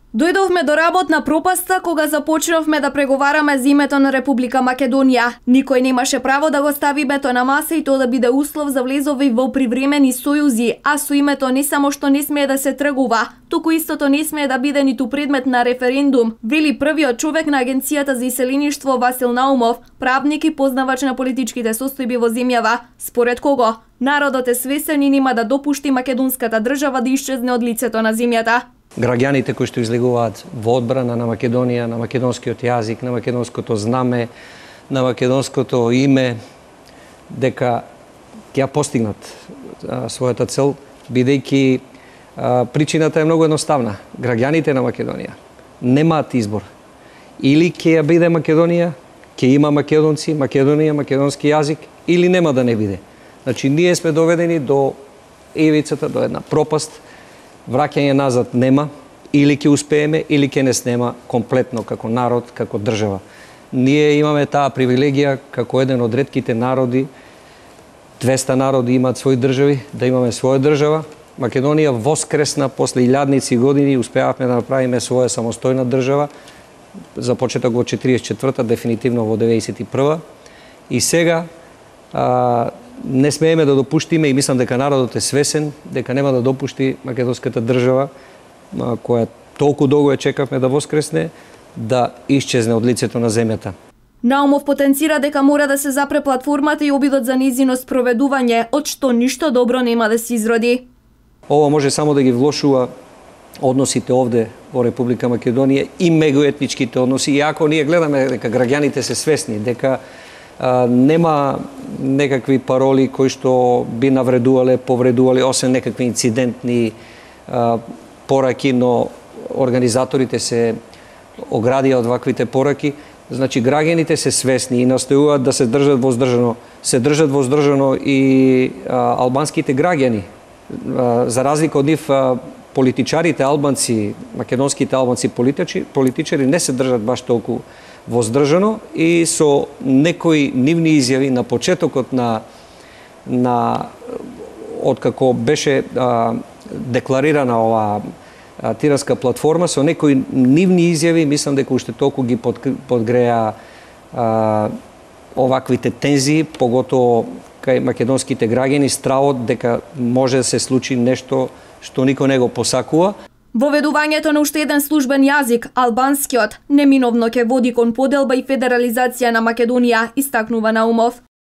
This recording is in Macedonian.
Дојдовме до работна пропаста кога започнавме да преговараме за името на Република Македонија. Никој немаше право да го стави името на маса и тоа да биде услов за влезови во привремени сојузи, а со името не само што не смее да се тргува, туку истото не смее да биде ниту предмет на референдум, вели првиот човек на Агенцијата за иселеништво Васил Наумов, правник и познавач на политичките состојби во земјава, според кого народот е свесен и нема да допушти македонската држава да исчезне од лицето на земјата. Граѓаните кои што излегуваат во одбрана на Македонија, на македонскиот јазик, на македонското знаме, на македонското име, дека ќе ја постигнат својата цел, бидејќи причината е многу едноставна. Граѓаните на Македонија немаат избор. Или ќе ја биде Македонија, ќе има македонци, Македонија, македонски јазик, или нема да не биде. Значи, ние сме доведени до ивицата, до една пропаст. Враќање назад нема, или ќе успееме, или ќе не снема комплетно како народ, како држава. Ние имаме таа привилегија како еден од ретките народи, 200 народи имаат своји држави, да имаме своја држава. Македонија воскресна после илјадници години, успеавме да направиме своја самостојна држава, започеток во 44-та, дефинитивно во 91-та. И сега не смееме да допуштиме, и мислам дека народот е свесен, дека нема да допушти македонската држава, која толку долго ја чекавме да воскресне, да исчезне од лицето на земјата. Наумов потенцира дека мора да се запре платформата и обидот за нејзино спроведување, од што ништо добро нема да се изроди. Ова може само да ги влошува односите овде во Република Македонија и меѓуетничките односи, иако ние гледаме дека граѓаните се свесни, дека нема некакви пароли кои што би навредувале, повредувале, освен некакви инцидентни пораки, но организаторите се оградија од ваквите пораки. Значи, граѓаните се свесни и настојуваат да се држат воздржано. Се држат воздржано и албанските граѓани. За разлика од нив, политичарите албанци, македонските албанци политичари не се држат баш толку воздржано и со некои нивни изјави на почетокот на откако беше декларирана оваа тиранска платформа, со некои нивни изјави, мислам дека уште толку ги подгреа оваквите тензии, поготово кај македонските граѓани, стравот дека може да се случи нешто што никој не го посакува. Воведувањето на уште еден службен јазик, албанскиот, неминовно ќе води кон поделба и федерализација на Македонија, истакнува Наумов.